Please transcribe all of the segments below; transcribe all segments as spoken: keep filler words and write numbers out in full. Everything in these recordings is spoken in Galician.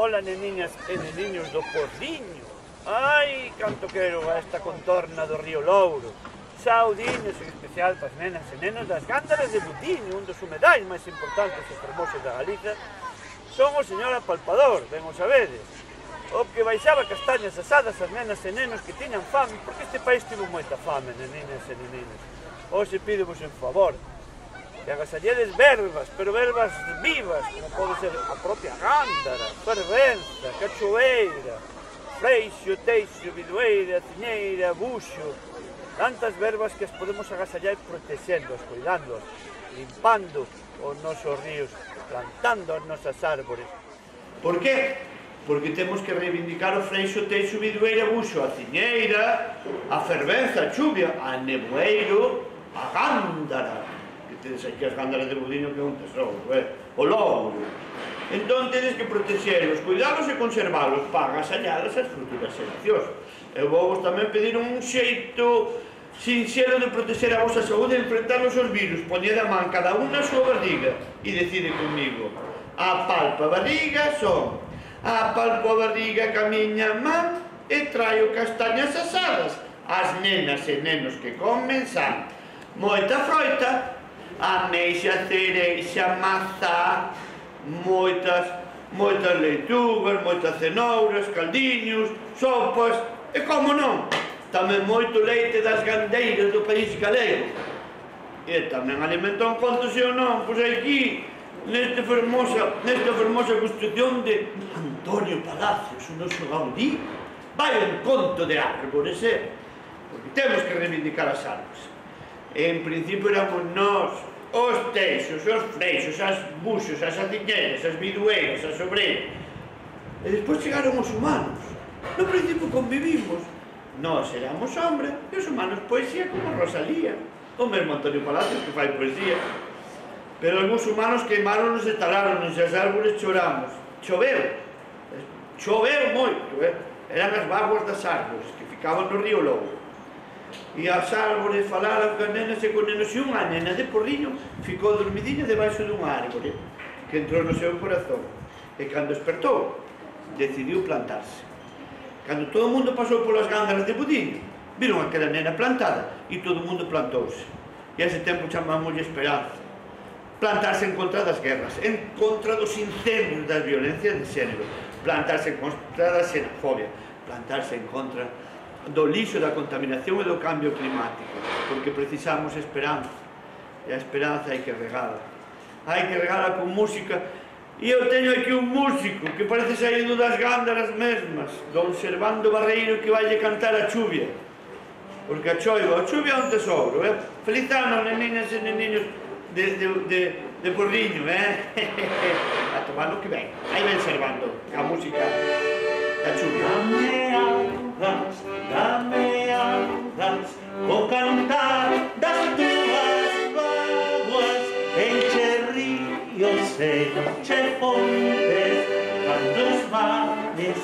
Ola, neniñas e neniños do Porriño. Ai, canto quero a esta contorna do río Louro. Saudiños, en especial para as nenas e nenos das Gándaras de Butiño, un dos humedais máis importantes e fermosos da Galiza. Son o señor apalpador, ben o sabedes. O que baixaba castañas asadas as nenas e nenos que tiñan fame, porque este país tivo moita fame, neninas e neninos. Hoxe pídevos en favor que agasalledes verbas, pero verbas vivas, como pode ser a propia gándara, fervenza, cachoeira, freixo, teixo, bidueira, ciñeira, buxo, tantas verbas que as podemos agasallar protexéndoas, cuidándoas, limpando os nosos ríos, plantando as nosas árbores. Por que? Porque temos que reivindicar o freixo, teixo, bidueira, buxo, a ciñeira, a fervenza, a chuvia, a nevoeiro, a gándara. Tedes aquí as Gándaras de Budiño que é un tesoro, eh? O Louro. Entón tedes que protexelos, cuidalos e conservalos para agasallalas as futuras xeracións. Eu vou vos tamén pedir un xeito sinxelo de protexer a vosa saúde e enfrentar os virus. Poned a man cada un na súa barriga e decide comigo. Apalpo a barriga son, apalpo a barriga ca miña man e traio castañas asadas. As nenas e nenos que comen san moita froita, ameixa, cereixa, mazá, moitas, moitas leitugas, moitas cenouras, caldiños, sopas, e como non, tamén moito leite das gandeiras do país galego. E tamén alimentan contos e ou non, pois aquí, nesta fermosa, nesta fermosa construcción de Antonio Palacios, o noso Gaudí, vai un conto de árbores, eh? Porque temos que reivindicar as árbores. En principio éramos nós, os teixos, os freixos, as buxos, as adiñeiras, as bidueiras, as sobreiras. E despois chegaron os humanos. No principio convivimos. Nós éramos sombra e os humanos poesía como Rosalía. O mesmo Antonio Palacios que fai poesía. Pero algúns humanos queimáronos e taláronos e as árbores choramos. Choveu. Choveu moito, eh? Eran as vaguas das árbores que ficaban no río Louro. E as árbores falaran con nenas e con nenos, e unha nena de Porriño ficou dormidinha debaixo dunha árbore que entrou no seu corazón, e cando despertou decidiu plantarse. Cando todo o mundo pasou polas Gándaras de Budiño, viron aquela nena plantada e todo o mundo plantouse, e a ese tempo chamámoslle esperanza. Plantarse en contra das guerras, en contra dos incendios, das violencias de xénero, plantarse en contra da xenofobia, plantarse en contra do lixo, da contaminación e do cambio climático, porque precisamos esperanza, e a esperanza hai que regala, hai que regala con música. E eu teño aquí un músico que parece saído das Gándaras mesmas, don Servando Barreiro, que vai cantar a chuvia, porque a choiva, a chuvia é un tesouro, eh? Feliz ano, neniñas e neniños de, de, de, de Porriño, eh? A tomar lo que ven, aí ven Servando, a música da chuvia. Dame augas, dame augas, o cantar das túas vaguas, enche ríos e enche fontes, cando os mares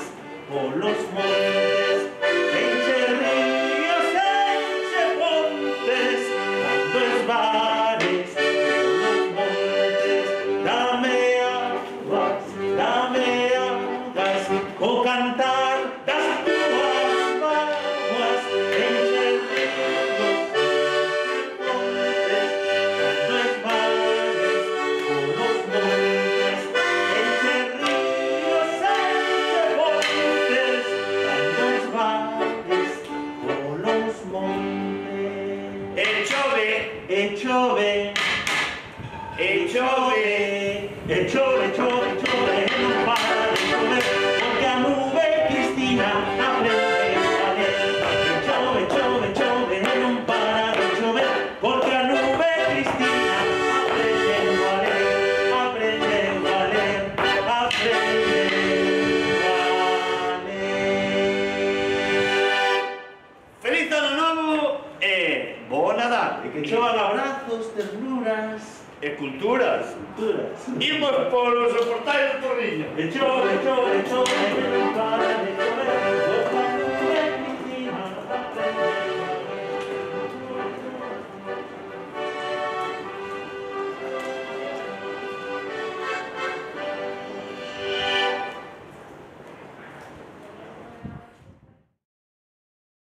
polos montes, enche ríos e enche fontes, cando os mares polos montes, dame augas, dame augas, o cantar das túas vaguas, enche ríos e fontes, cando os mares polos montes, enche ríos e enche fontes, cando os mares polos montes. E chove, E chove, e chove, e chove, chove, chove, e non para de chover, porque a nube Cristina aprende a ler. E chove, chove, chove, e non para de chover, porque a nube Cristina aprende a ler, aprende a ler, aprende a ler. Feliz ano novo e bo Nadal. E que chovan abrazos, ternuras, E culturas. culturas. Imos polos soportais do Porriño. E chove, chove, chove,